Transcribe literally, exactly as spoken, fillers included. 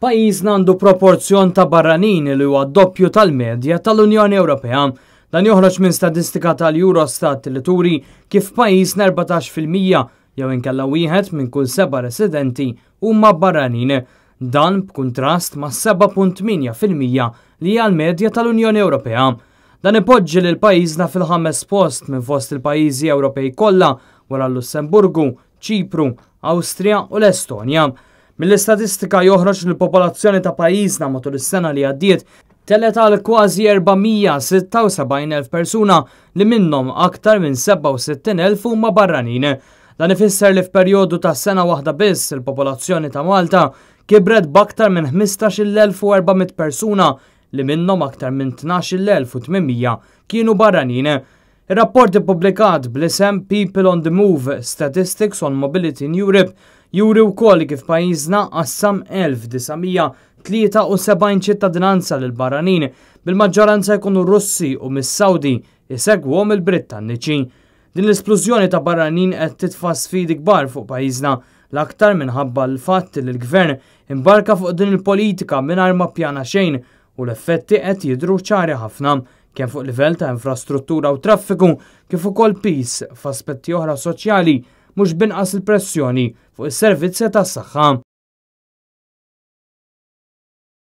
Pajjiżna għandu proporzjon ta' barranin li huwa doppju tal-medja tal-Unjoni Ewropea. Dan joħroġ minn statistika tal-Eurostat li turi kif pajjiżna erbatax fil-mija jew inkella wieħed minn kull seba' residenti huma barranin. Dan b'kuntrast ma' seba' punt tmienja fil-mija li hija l-medja tal-Unjoni Ewropea. Dan ipoġġi lil pajjiżna fil-ħames post minn fost il-pajjiżi Ewropej kollha wara l-Lussemburgu, Ċipru, Awstrija u l-Estonja. Mill-istatistika joħroġ li l-popolazzjoni ta' pajjiżna matul is-sena li għaddiet telgħet għal kważi erba' mija sitta u sebgħin elf persuna li minnhom aktar minn sebgħa u sittin elf huma barranin. Dan ifisser li f'perjodu ta' sena waħda biss il-popolazzjoni ta' Malta kibret b'aktar minn ħmistax-il elf u erba' mitt persuna li minnhom aktar minn tnax-il elf u tmien mija kienu barranin. Ir-rapport ippubblikat bl-isem People on the Move: Statistics on Mobility in Europe juri wkoll kif pajjiżna qassam elf disa' mija tlieta u sebgħin ċittadinanza lil barranin, bil-maġġoranza jkunu Russi u mis-Sawdi isegwhom il-Brittanniċi. Din l-esplużjoni ta' barranin qed titfa' sfidi kbar fuq pajjiżna, l-aktar minħabba l-fatt li l-gvern imbarka fuq din il-politika mingħajr ma ppjana xejn u l-effetti qed jidhru ċari ħafna, kemm fuq livell ta' infrastruttura u traffiku kif ukoll piż f'aspetti oħra soċjali, mhux binqas il-pressjoni fuq is-servizzi tas-saħħa.